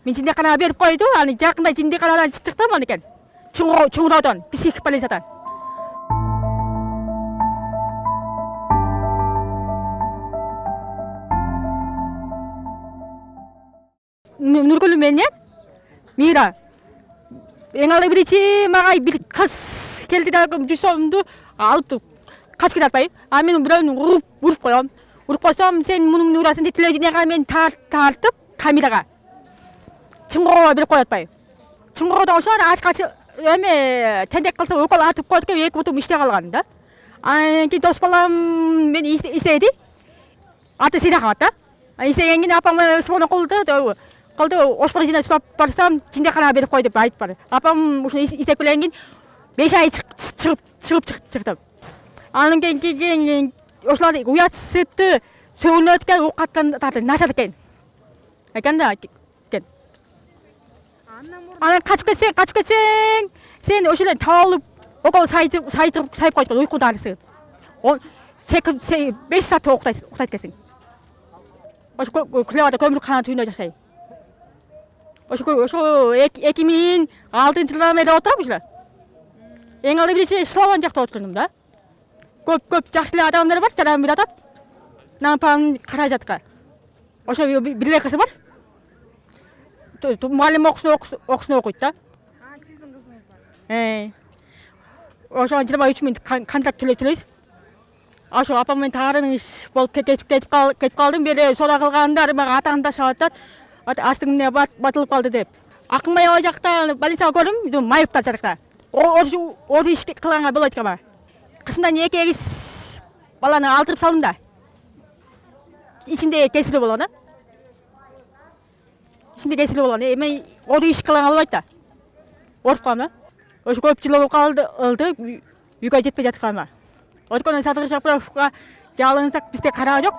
Мен жиндеканага берип койду. Аны жакында жиндеканадан чыктым экен. Чуңуродон, психбольницадан. Нургүл менен Мира. Эң алды биринчи мага бир кыз келди да жүсөмдү алып качып кетпай. А мен бирөөнү уруп коем. Уруп койсом, сен мунун урасың деп телевидениега мен тартып камерага. Чуңурова берип коятпай. Чуңуродон ошол ачкач эме тендек кылса укол атып койдук, эки бутум иштей калган да. Анан кийин дос балам мен издеди. Аты Сирахмат да. Издегенден кийин апам звонок кылды. Ошпор жинап сұрап барсам, жиндеканага берип кой деп айтып бар. Апам ушуну издеп келген кийин 5 ай чыгып. Анан кийин ошолар уят сыпты сөгүнүп экен, укаттан начар экен. Экен да. Анан качып кетсең, сен ошолер таалып, около сайып койгон уйку дарысы. 5 саат уктайт экенсиң. Ошо клевада көмүркана түбүндө жашайм. Ошо 2006-жылдан бери отурам ушулар. Эң алды биринчи Славан жакта отурдум да. Көп жакшы эле адамдар бар, жаран бир атат. Нампан каражатка. Ошо бир эле кызы бар. Мугалим окуусун окуйт да. Сиздин кызыңыз бар. Ошо 23 миң контракт төлөйбүз. Ошо апам менен таарыныш болуп кетип калдым. Бери сора кылгандар мага атаандашып атат. Астыңда батылып калды деп. Акынбай ал жакта больницага көрдүм, майыптар жакта. Ор иш кылганга болот экен. Кысымдан 2 баланы алдырып салдым да. Ичимде кесири болгон да. Мен ор иш кылганга болот да. Оруп калдым да. Ошо көп жыл болуп калды, үйгө жетпей жатканыма. Өткөн Садыр Жапаровга жалынсак бизде караа жок.